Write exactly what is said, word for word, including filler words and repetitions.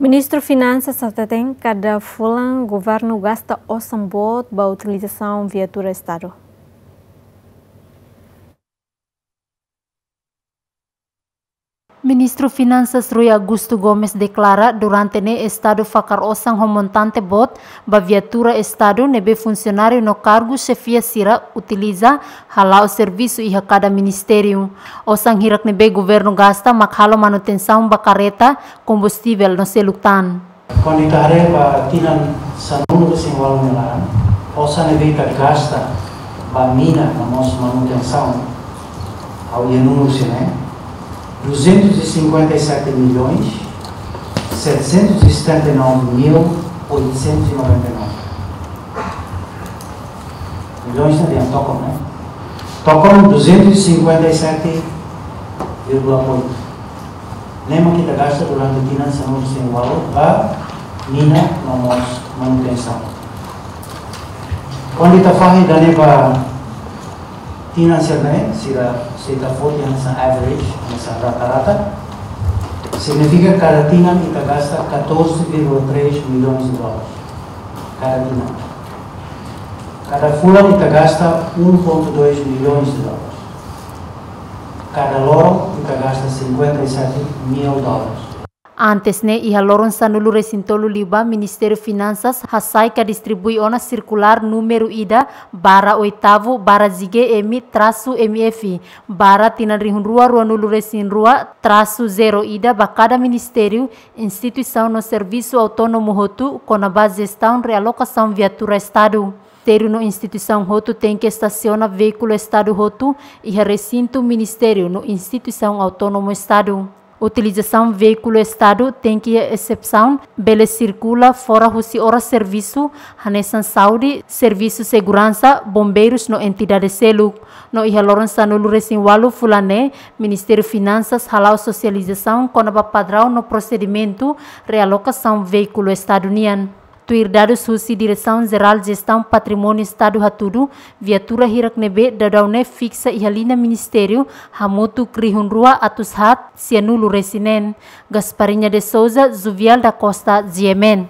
Ministru Finansas hateten kada fulan governu gasta osan boot ba utilizasaun viatura Estadu. Ministru Finansas Rui Augusto Gomes deklara durante ne'e Estadu fakar osan ho montante boot ba viatura Estadu ne'ebé funsionáriu no kargu xefia sira utiliza hala'o servisu iha kada ministériu. Osan hirak ne'ebé governu gasta mak halo manutensaun ba karreta, kombustivel no seluk tan. Kuandu ita haree ba tinan sanulu-resin-ualu nia laran, osan ne'ebé ita gasta ba mina no mós manutensaun, ha'u iha númeru sira-ne'e, duzentos e cinquenta e sete milhões, setecentos e setenta e nove mil, oitocentos e noventa e nove. Milhões ne'e dehan tokon, ne'e? Tokon duzentos e cinquenta e sete vírgula oito. Ne'e mak ita gasta durante tinan sanulu-resin-ualu ba mina no mós manutensaun. Kuandu ita fahe ida-ne'e ba tinan sira-ne'e, sira, se ita foti hanesan average, hanesan rata-rata, signifika kada tinan ita gasta catorze vírgula três milhões de dólares. Kada tinan. Kada fulan ita gasta um ponto dois milhões de dólares. Kada loron ita gasta cinquenta e sete mil dólares. Antes ne'e, iha loron sanulu-resin-tolu liubá, Ministériu Finansas hasai ka distribui ona sirkulár númeru ida barra oitavu barra G G M trasu M F barra tinan rihun rua ruanulu-resin-rua trasu zero ida ba kada ministériu, instituisaun no servisu autónomu hotu kona-ba jestaun realokasaun viatura Estadu. Ministériu no instituisaun hotu tenke estasiona veíkulu Estadu hotu iha resintu ministériu no instituisaun autónomu Estadu. Utilizasaun veíkulu Estadu tenke iha esepsaun bele sirkula fora husi oras servisu, hanesan saúde, servisu seguransa, bombeirus no entidade seluk. No iha loron sanulu-resin-ualu fulan ne'e, Ministériu Finansas hala'o sosializasaun kona-ba padraun no prosedimentu realokasaun veíkulu Estadu nian. Tuir dadus husi Diresaun Jerál Jestaun Patrimóniu Estadu hatudu, viatura hirak ne'ebé daudaun ne'e fiksa iha liña ministériu hamutuk rihun rua atus haat sianulu-resin-neen. Gasparinha de Souza, Juvial da Costa, G M N.